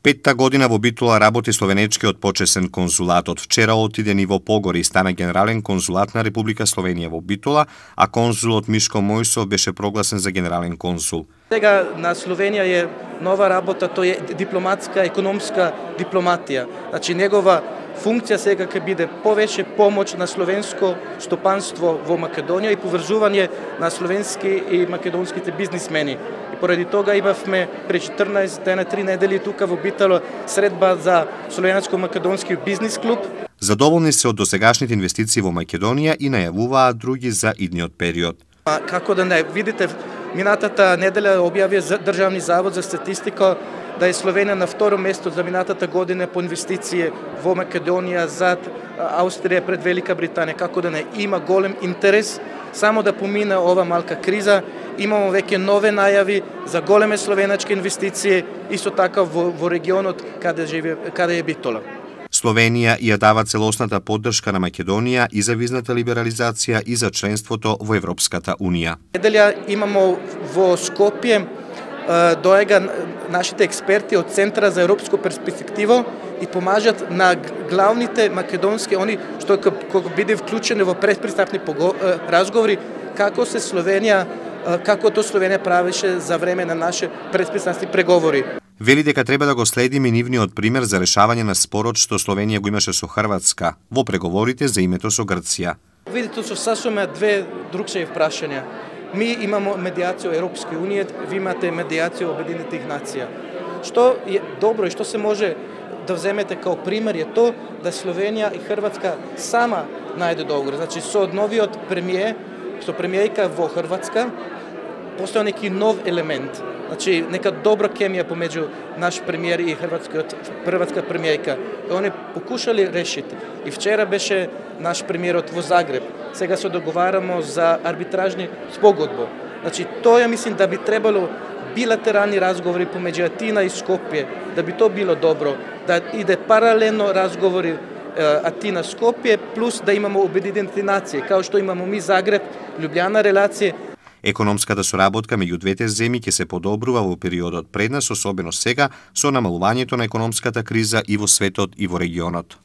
Петта година во Битола работи словенечкиот почесен конзулат. Од вчера отиде ниво погоре и стана генерален конзулат на Република Словенија во Битола, а конзулот Мишко Мојсов беше прогласен за генерален конзул. Сега на Словенија е нова работа, тој е дипломатска, економска дипломатија. Значи негова функција сега ќе биде повеќе помош на словенско стопанство во Македонија и поврзување на словенски и македонските бизнисмени. И поради тога имавме пред 14 дена, 3 недели тука во Битола средба за словенско-македонски бизнис клуб. Задоволни се од досегашните инвестиции во Македонија и најавуваат други за идниот период. Како да не, видите, минатата неделя објави Државни завод за статистика да е Словенија на второ место за минатата година по инвестиции во Македонија, зад Австрија, пред Велика Британија. Како да не, има голем интерес само да помине ова малка криза. Имамо веќе нови најави за големе словенечки инвестиции, исто така во регионот каде е Битола. Словенија ја дава целосната поддршка на Македонија и за визната либерализација и за членството во Европската Унија. Неделја имамо во Скопје доега нашите експерти од Центра за европско перспективо и помажат на главните македонски, они што кога биде вклучени во предпристапни разговори, како тоа Словенија правеше за време на наши предпристапни преговори. Вели дека треба да го следиме нивниот пример за решавање на спорот што Словенија го имаше со Хрватска во преговорите за името со Грција. Видите, со сасоме две другши прашања. Ми имамо медијација во Европска Унија, ви имате медијација во Обединетите нации. Што е добро и што се може да вземете као пример е тоа да Словенија и Хрватска сама најде договор. Значи со новиот премиер, со премиерка во Хрватска, постоја неки нов елемент. Значи нека добра хемија помеѓу наш премиер и хрватска премиерка. И они покушали решити. И вчера беше наш премиерот во Загреб. Сега се договарамо за арбитражни спогодба. Значи тоа мислам да би требало билатерални разговори помеѓу Атина и Скопје, да би тоа било добро, да иде паралелно разговори Атина-Скопје, плюс да имамо Обединети нации, као што имамо ми Загреб, Лјубљана релација. Економската соработка меѓу двете земји ќе се подобрува во периодот пред нас, особено сега со намалувањето на економската криза и во светот и во регионот.